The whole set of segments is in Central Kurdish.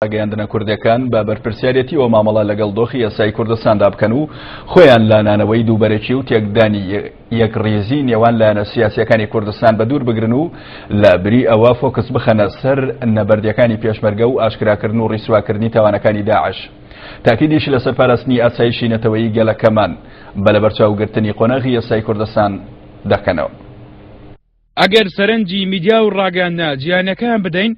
ڕاگەیاندنە کوردیەکان بە بەرپرسیارێتیەوە مامەڵە لەگەڵ دۆخی ئێستای کوردستاندا بکەن و خۆیان لە نانەوەی دووبەرەکی و تێکدانی یەکڕیزی نێوان لایەنە سیاسیەکانی کوردستان بە دوور بگرن و لە بری ئەوە فۆکس بخەنە سەر نەبەردیەکانی پێشمەرگە و ئاشکراکردن و ڕیسواکردنی تاوانەکانی داعش. تاکیدیش لەسەر پاراستنی ئاسایشی نەتەوەیی گەلەکەمان بە لەبەرچاوگرتنی قۆناغی ئێستای کوردستان دەکەنەوە. ئەگەر سەرنجی میدیا و ڕاگەیاندنە جیهانیەکان بدەین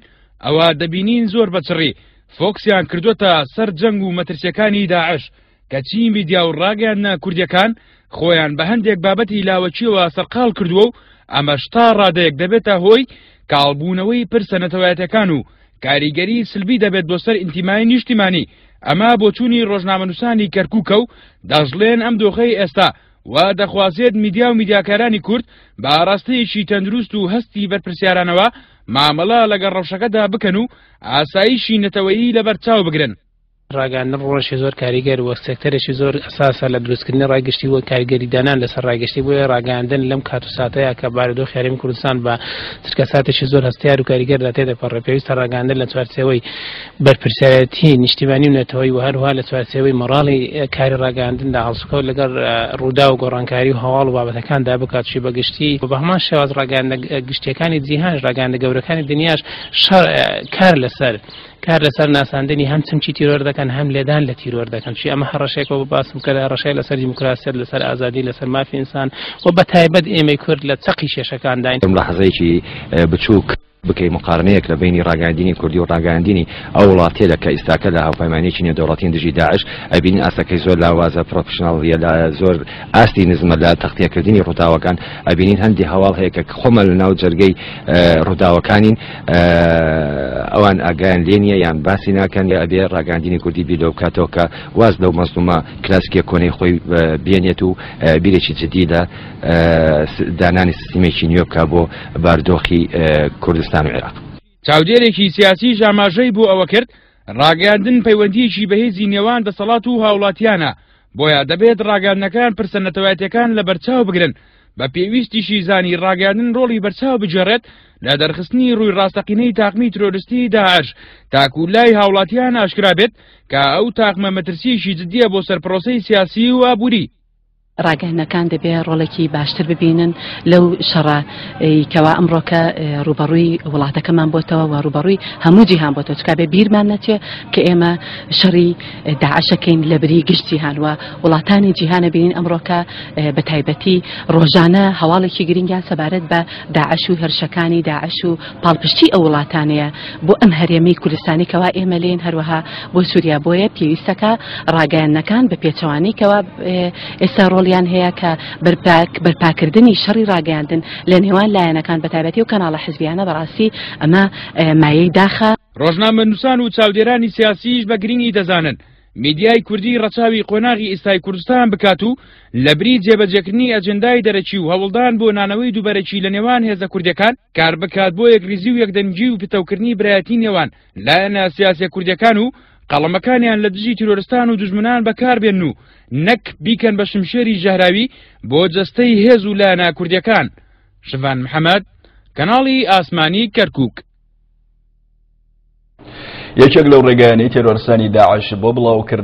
ئەوا دەبینین زۆر بە چڕی فۆکسیان کردووەتە سەر جەنگ و مەترسیەکانی داعش کەچی میدیا و ڕاگەیاندنە کوردیەکان خۆیان بە هەندێک بابەتی لاوەکیەوە سەرقاڵ کردووە و ئەمەش تا ڕادەیەک دەبێتە هۆی کاڵبوونەوەی پرسە نەتەوایەتەکان و کاریگەری سلبی دەبێت بۆ سەر ئینتیمای نیشتیمانی ئەمە بۆچوونی ڕۆژنامەنووسانی کەرکووکە و دەشڵێن ئەم دۆخەی ئێستا وا دەخوازێت میدیا و میدیاکارانی کورد بە ئاراستەیەکی تەندروست و هەستی بەرپرسیارانەوە مامەڵە لەگەڵ ڕەوشەکەدا بکەن و ئاسایشی نەتەوەیی لەبەرچاو بگرن. ڕاگەیاندن ڕۆڵێکی زۆر کاریگەر و سێکتەرێکی زۆر ئەساسە لە دروستکردنی ڕای گشتی و کاریگەری دانان لەسەر ڕای گشتی، بۆیە ڕاگەیاندن لەم کات و ساتەیا کە بارودۆخی هەرێمی کوردستان بە چرکەساتێکی زۆر هەستیار و کاریگەردا تێدەپەڕێ پێویستە ڕاگەیاندن لە چوارچێوەی بەرپرسیارێتی نیشتیمانی و نەتەوەیی و هەروەها لە چوارچێوەی مۆڕاڵی کاری ڕاگەیاندندا هەڵسوکەوت لەگەڵ ڕووداو و گۆڕانکاری و هەواڵ و بابەتەکاندا بکات چی بە گشتی و بە هەمان شێواز ڕاگەیاندنە گشتیەکانی جیهانش ڕاگەیاندنە گەورەکانی دنیاش شەڕ کار لەسەر کار لەسەر ناساندنی هەم چمکی تیرۆر دەکەن هەم لێدان لە تیرۆر دەکەن چی ئەمە هەڕەشێکەوە بۆ باسم کرد هەڕەشەیە لەسەر دیموکراسیەت لەسەر ئازادی لەسەر مافی ئینسان و بە تایبەت ئێمەی کورد لە چەقی کێشەکانداین. لەحزەیەکی بچووک بکەی مقارنەیەک لە بەینی ڕاگەیاندنی کوردی و ڕاگەیاندنی ئەو وڵاتێلە کە ئیستاکە لە هاوپەیمانیەکی نێودەوڵەتین دژی داعش ئەبینین ئاستەکەی زۆر لاوازە پرۆفشناڵیە لە زۆر ئاستی نزمە لە تەختیەکردنی ڕووداوەکان ئەبینین هەندی هەواڵ هەیە کە خۆمان لە ناو جەرگەی ڕووداوەکانین ئەوان ئاگایان لێ نییە یان باسی ناکەن یا ئەبێ ڕاگەیاندنی کوردی بیر لەو بکاتەوە کە واز لەو مەزلومە کلاسیکیە کۆنەی خۆی بێنێت و بیرێکی جدی لە دانانی سیستمێکی نوێ بکا بۆ باردۆخی کوردستان و عێراق. چاودێرێکی سیاسیش ئاماژەی بۆ ئەوە کرد، ڕاگەیاندن پەیوەندییەکی بەهێزی نێوان دەسەڵات و هاوڵاتیانە، بۆیە دەبێت ڕاگەیاندنەکان پرسە نەتەوایەتیەکان لەبەرچاو بگرن، بە پێویستیشی زانی ڕاگەیاندن ڕۆڵی بەرچاو بگێڕێت لە دەرخستنی ڕووی ڕاستەقینەی تاقمی ترۆرستی داعش تاکو لای هاوڵاتیان ئاشکرا بێت کە ئەو تاقمە مەترسییەکی جدییە بۆ سەر پرۆسەی سیاسی و ئابووری. ڕاگەیاندنەکان دەبێ ڕۆڵێکی باشتر ببینن لەو شەڕە کەوا ئەمڕۆکە ڕووبەڕووی وڵاتەکەمان بۆتەوە و ڕووبەڕووی هەموو جیهان بۆتەوە چکا بێ بیرمان نەچێ کە ئێمە شەڕی داعشەکەین لە بری گشت جیهان و وڵاتانی جیهانە بینین ئەمڕۆکە بە تایبەتی ڕۆژانە هەواڵێکی گرنگیان سەبارەت بە داعش و هێرشەکانی داعش و پاڵپشتی ئەو وڵاتانەیە بۆ ئەم هەرێمەی کوردستانی کەوا ئێمە لێن هەروەها بۆ سووریا بۆیە پێویستەکە ڕاگەیاندنەکان بە پێچەوانەی کەوا ئێستا ڕۆڵیان هەیە کە بەرپاکردنی شەڕی ڕاگەیاندن لە نێوان لایەنەکان بە تایبەتی و کەناڵە حزبیانە بەڕاستی ئەمە مایەی داخە. ڕۆژنامەنووسان و چاودێرانی سیاسیش بە گرینگی دەزانن میدیای کوردی ڕەچاوی قۆناغی ئیستای کوردستان بکات و لەبری جێبەجێکردنی ئەجێندای دەرەکی و هەوڵدان بۆ نانەوەی دووبەرەکی لە نێوان هێزە کوردیەکان کار بکات بۆ یەکریزی و یەکدەنگی و پتەوکردنی برایەتی نێوان لایەنە سیاسیە کوردیەکان و قەڵەمەکانیان لە دژی تیرۆرستان و دوژمنان بەکاربێنن و نەک بیکەن بە شمشێری ژەهراوی بۆ جەستەی هێز و لایەنە کوردیەکان. شڤان محەمەد، کەناڵی ئاسمانی کەرکوک. یەکێک لەو ڕێگایانەی تێرۆرستانی داعش بۆ بڵاوکردن.